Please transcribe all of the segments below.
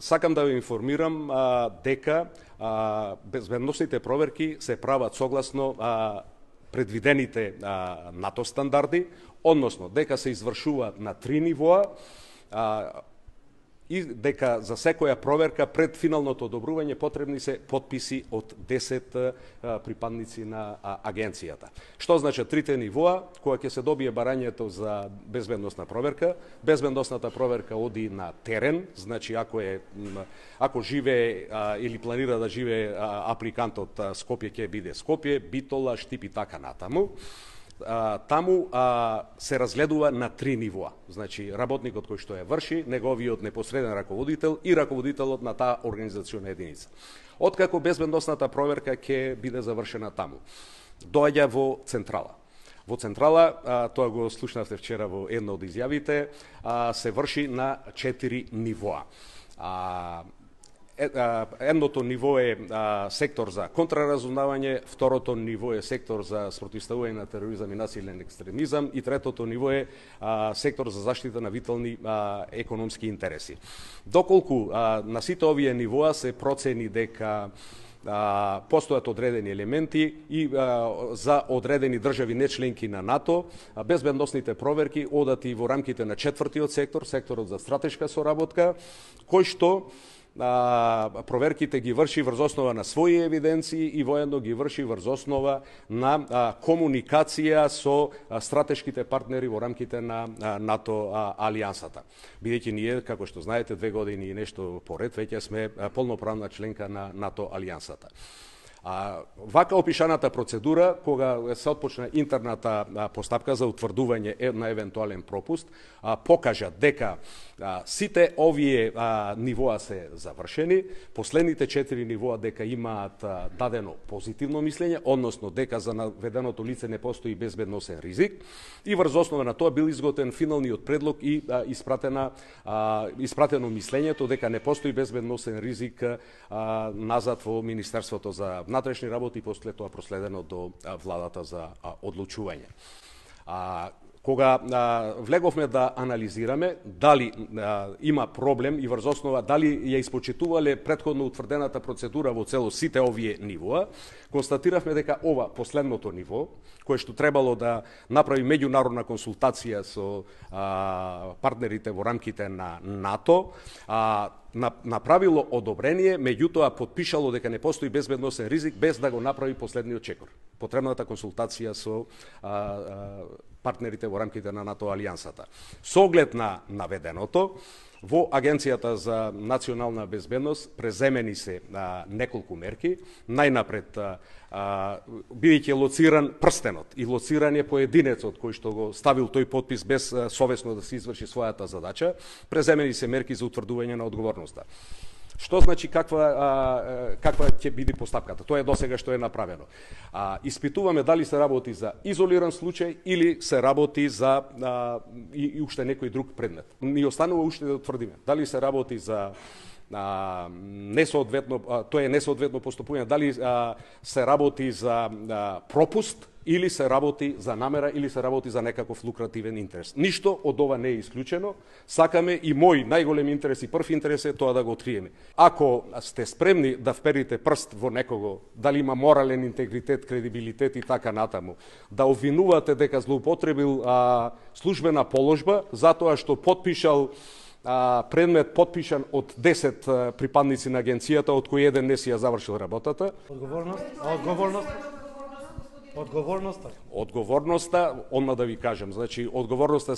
Сакам да ве информирам дека безбедносните проверки се прават согласно предвидените НАТО стандарди, односно дека се извршуваат на 3 нивоа, и дека за секоја проверка пред финалното одобрување потребни се потписи од 10 припадници на агенцијата. Што значи трите нивоа? Кога ќе се добие барањето за безбедносна проверка, безбедносната проверка оди на терен, значи ако живее или планира да живее апликантот Скопје, ќе биде Скопје, Битола, Штип и така натаму. Таму се разгледува на 3 нивоа. Значи, работникот кој што ја врши, неговиот непосреден раководител и раководителот на таа организациона единица. Откако безбедносната проверка ќе биде завршена таму, доаѓа во централа. Во централа, тоа го слушнавте вчера во една од изјавите, се врши на 4 нивоа. Едното ниво е сектор за контраразузнавање, второто ниво е сектор за спротивставување на тероризам и насилен екстремизам и третото ниво е сектор за заштита на витални економски интереси. Доколку на сите овие нивоа се процени дека постојат одредени елементи и за одредени држави нечленки на НАТО, безбедносните проверки одат и во рамките на 4-тиот сектор, секторот за стратешка соработка, кој што проверките ги врши врз основа на своји евиденции и воедно ги врши врз основа на комуникација со стратешките партнери во рамките на НАТО алијансата. Бидејќи ние, како што знаете, 2 години и нешто поред, веќе сме полноправна членка на НАТО алијансата. Вака опишаната процедура, кога се отпочна интерната постапка за утврдување на евентуален пропуст, покажа дека сите овие нивоа се завршени, последните 4 нивоа дека имаат дадено позитивно мислење, односно дека за наведеното лице не постои безбедносен ризик, и врз основа на тоа бил изготвен финалниот предлог и испратено мислењето дека не постои безбедносен ризик назад во Министерството за внатрешни работи и после тоа проследено до владата за одлучување. Кога влеговме да анализираме дали има проблем и врз основа дали ја испочитувале претходно утврдената процедура во цело сите овие нивоа, констатиравме дека ова последното ниво, кое што требало да направи меѓународна консултација со партнерите во рамките на НАТО, направило одобрение, меѓутоа потпишало дека не постои безбедносен ризик без да го направи последниот чекор. Потребната консултација со партнерите во рамките на НАТО алијансата. Со оглед на наведеното, во Агенцијата за национална безбедност преземени се неколку мерки. Најнапред, бидејќи лоциран прстенот и лоциран е поединецот кој што го ставил тој подпис без совесно да се изврши својата задача, преземени се мерки за утврдување на одговорноста. Што значи каква ќе биде постапката? Тоа е досега што е направено. Испитуваме дали се работи за изолиран случај или се работи за и уште некој друг предмет. Ни останува уште да тврдиме дали се работи за несоодветно, тоа е несоодветно постапување, дали се работи за пропуст или се работи за намера, или се работи за некаков лукративен интерес. Ништо од ова не е исклучено. Сакаме и мој најголем интерес и прв интерес е тоа да го откриеме. Ако сте спремни да вперите прст во некого, дали има морален интегритет, кредибилитет и така натаму, да обвинувате дека злоупотребил службена положба затоа што потпишал предмет подпишан од 10 припадници на агенцијата, од кој еден не си ја завршил работата. Одговорноста, одма да ви кажам, значи одговорноста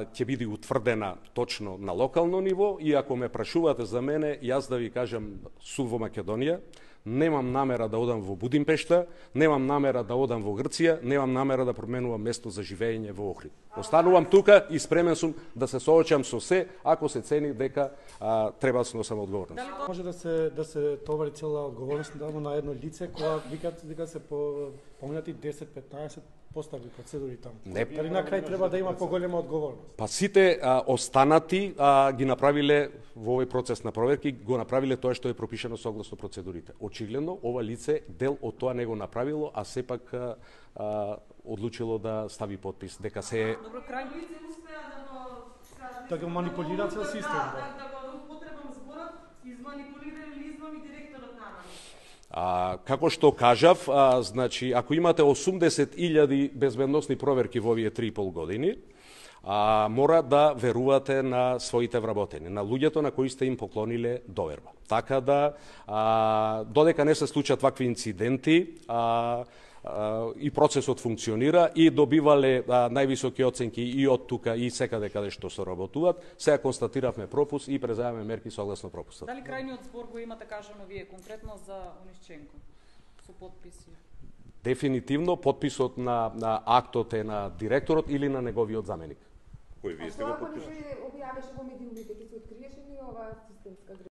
ќе биде утврдена точно на локално ниво, и ако ме прашувате за мене, јас да ви кажам, сум во Македонија, немам намера да одам во Будимпешта, немам намера да одам во Грција, немам намера да променувам место за живење во Охрид. Останувам тука и спремен сум да се соочам со се, ако се цени дека треба да сносам одговорност. Може да се товари цела одговорност на едно лице кога вика се поминати 10-15 постави процедури таму. Дали на крај треба да има поголема одговорност? Па сите останати ги направиле во овој процес на проверки, го направиле тоа што е пропишано согласно процедурите. Очигледно ова лице дел од тоа не го направило, а сепак одлучило да стави подпис дека се Добро, крајно лице успеа да го да го манипулира цел систем. Да го употребам Изманипулира или измами директорот на Како што кажав, значи, ако имате 80.000 безбедносни проверки во овие 3,5 години, мора да верувате на своите вработени, на луѓето на кои сте им поклониле доверба. Така да, додека не се случат вакви инциденти, и процесот функционира и добивале највисоки оценки и од тука и секаде каде што се работуваат, сега констатиравме пропуск и преземаме мерки согласно пропустот. Дали крајниот збор го имате кажано вие конкретно за Онишченко со подписи? Дефинитивно подписот на актот е на директорот или на неговиот заменик. Кој вие сте го подписали? Ако не се објавеше во медиумите, ќе се откриеше ли ова системска грешка?